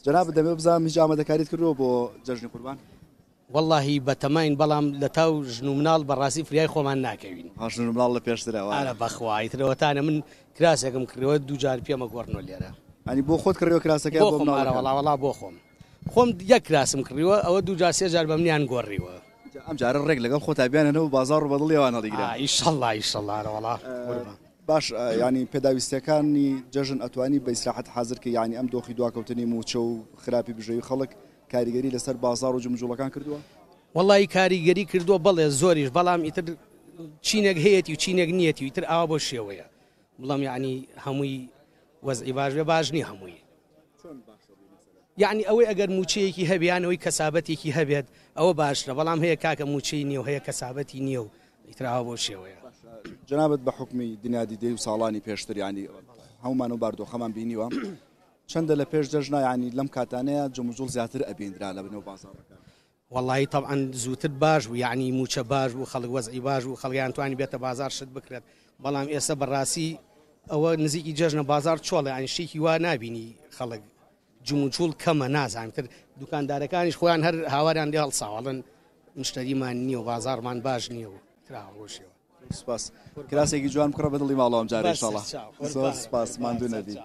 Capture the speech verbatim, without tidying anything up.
جەنابت دەمەوێت بزانم هیچ ئامادەکاریت کردووە بۆ جەژنی قوربان؟ وەڵاهی بەتەماین بەڵام لە تاو ژن و مناڵ بەڕاستی فریای خۆمان ناکەوین. ها ژن و مناڵ لە پێشترە وایە؟ ئارە بەخوا ئیتر ئەوەتانە من کراسێکم کڕیوە دوو جار پێمە گۆڕنەوە لێرە. یانی بۆ خۆت کڕیوە کراسەکە یان بۆ بۆ خۆم ئارە مناڵەکان؟ وەڵا وەڵا بۆ خۆم خۆم یەک کراسم کڕیوە ئەوە دوو جار سێ جار بە منیان گۆڕیوە. جا ئەم جارە ڕێک لەگەڵ خۆتا بیانهێنەوە بازاڕ و بە دڵی ئەوان هەڵیگرە. ئا ئیشەڵا ئیشەڵا ئارە وەڵا قوربان. باش یانی پێداویستیەکانی جەژن ئەتوانی بە ئیسراحەت حازر کەی یانی ئەم دۆخی دواکەوتنی مووچە و خراپی بژێوی خەڵک کاریگەری لەسەر بازاڕ و جموجوڵەکان کردووە؟ وەڵی کاریگەری کردووە بەڵێ زۆریش بەڵام ئیتر چینێک هەیەتی و چینێک نیەتی و ئیتر ئاوا بۆ شێوەیە بڵام یعنی هەمووی وەزعی باش بێ باش نییە هەمووی. یعنی ئەوەی ئەگەر موچەیەکی هەبێ یان ئەوەی کەسابەتێکی هەبێت ئەوە باشترە بەڵام هەیە کاکە موچەی نییە و هەیە کەسابەتی نییە و ئیتر ئاوا بۆ شێوەیە. جەنابت بە حوکمی دنیا دیدەی و ساڵانی پێشتر یعنی هەمومان و باردۆخەمان بینیوە چەندە لە پێش جەژنا یعنی لەم کاتانەیە جموجوڵ زیاتر ئەبیندرا لە بنەو بازاڕەکان؟ وەڵی تەبعەن زووتر باش بوو یعنی موچە باش بوو خەڵک وەزعی باش بوو خەڵکیان توانی بێتە بازار شت بکرێت بەڵام ئێستا بەڕاستی ئەوە نزیکی جەژنە بازار چۆڵە یعنی شتێکی وا نابینی خەڵک جموجوڵ کەمە نازانم تر دوکاندارەکانیش خۆیان هەر هاواریان لێ هەڵساوەڵن مشتەریمان نییە و بازارمان باش نییە و تراوەشیەوە. سپاس. کراسێکی جوان بکڕە بە دڵی ماڵەوە ئەم جارە بەس ئینشاڵڵا. چاو. زۆر سپاس، ماندوو نەبی.